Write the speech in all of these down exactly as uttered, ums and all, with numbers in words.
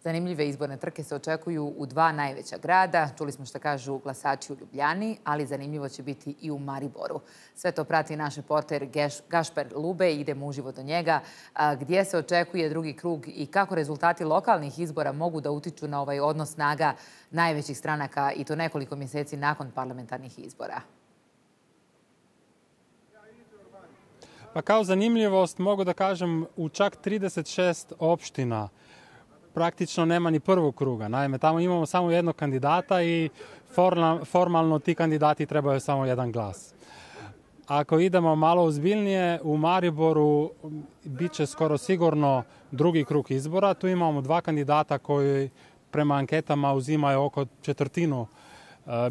Zanimljive izborne trke se očekuju u dva najveća grada. Čuli smo šta kažu glasači u Ljubljani, ali zanimljivo će biti i u Mariboru. Sve to prati naš reporter Gašper Lube. Idemo uživo do njega. Gdje se očekuje drugi krug i kako rezultati lokalnih izbora mogu da utiču na ovaj odnos snaga najvećih stranaka i to nekoliko mjeseci nakon parlamentarnih izbora? Pa kao zanimljivost mogu da kažem u čak trideset šest opština praktično nema ni prvog kruga. Naime, tamo imamo samo jednog kandidata i formalno ti kandidati trebaju samo jedan glas. Ako idemo malo ozbiljnije, u Mariboru bit će skoro sigurno drugi krug izbora. Tu imamo dva kandidata koji prema anketama uzimaju oko četvrtinu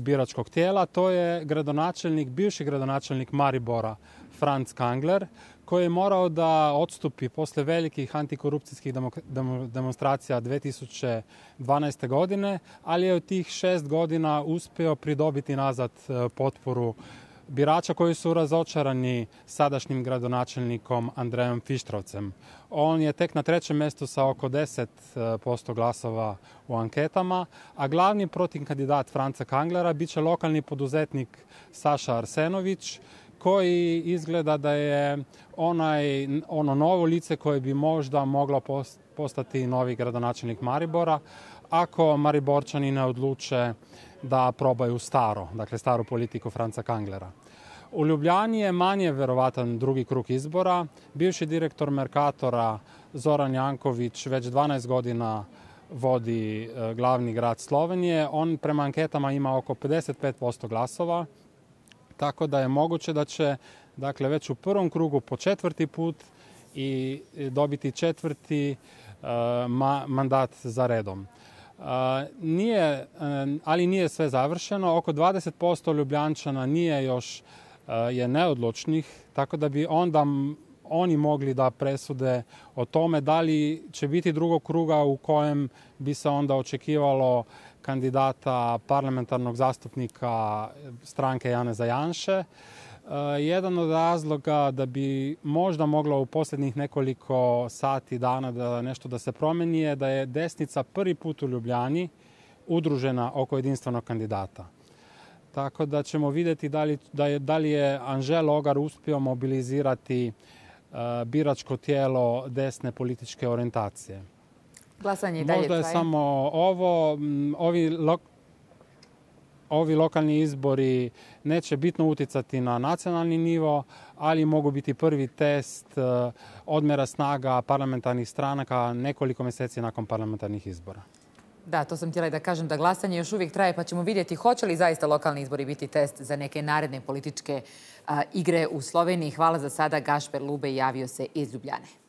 biračkog tijela. To je gradonačelnik, bivši gradonačelnik Maribora, Franz Kangler, koji je morao da odstupi posle velikih antikorupcijskih demonstracija dve tisuće dvanaeste. godine, ali je u tih šest godina uspio pridobiti nazad potporu birača koji su razočarani sadašnjim gradonačelnikom Andrejom Fištravcem. On je tek na trećem mjestu sa oko deset posto glasova u anketama, a glavni protivkandidat Franca Kanglera bit će lokalni poduzetnik Saša Arsenović, koji izgleda da je onaj, ono novo lice koje bi možda moglo postati novi gradonačelnik Maribora, ako Mariborčani ne odluče da probaju staro, dakle staru politiku Franca Kanglera. U Ljubljani je manje verovatan drugi krug izbora. Bivši direktor Merkatora Zoran Janković već dvanaest godina vodi glavni grad Slovenije. On prema anketama ima oko pedeset pet posto glasova, tako da je moguće da će dakle, već u prvom krugu po četvrti put i dobiti četvrti uh, ma, mandat za redom. Uh, nije, uh, ali nije sve završeno. Oko dvadeset posto Ljubljančana nije još uh, je neodlučnih, tako da bi onda oni mogli da presude o tome da li će biti drugog kruga u kojem bi se onda očekivalo kandidata parlamentarnog zastupnika stranke Janeza Janše. Jedan od razloga da bi možda moglo u posljednjih nekoliko sati dana da nešto da se promeni je da je desnica prvi put u Ljubljani udružena oko jedinstvenog kandidata. Tako da ćemo vidjeti da li, da je, da li je Anže Logar uspio mobilizirati uh, biračko tijelo desne političke orijentacije. Glasanje i dalje Možda je traje. samo ovo, ovi, lo, ovi lokalni izbori neće bitno uticati na nacionalni nivo, ali mogu biti prvi test uh, odmjera snaga parlamentarnih stranaka nekoliko mjeseci nakon parlamentarnih izbora. Da, to sam htjela da kažem da glasanje još uvijek traje, pa ćemo vidjeti hoće li zaista lokalni izbori biti test za neke naredne političke uh, igre u Sloveniji. Hvala za sada. Gašper Lube javio se iz Ljubljane.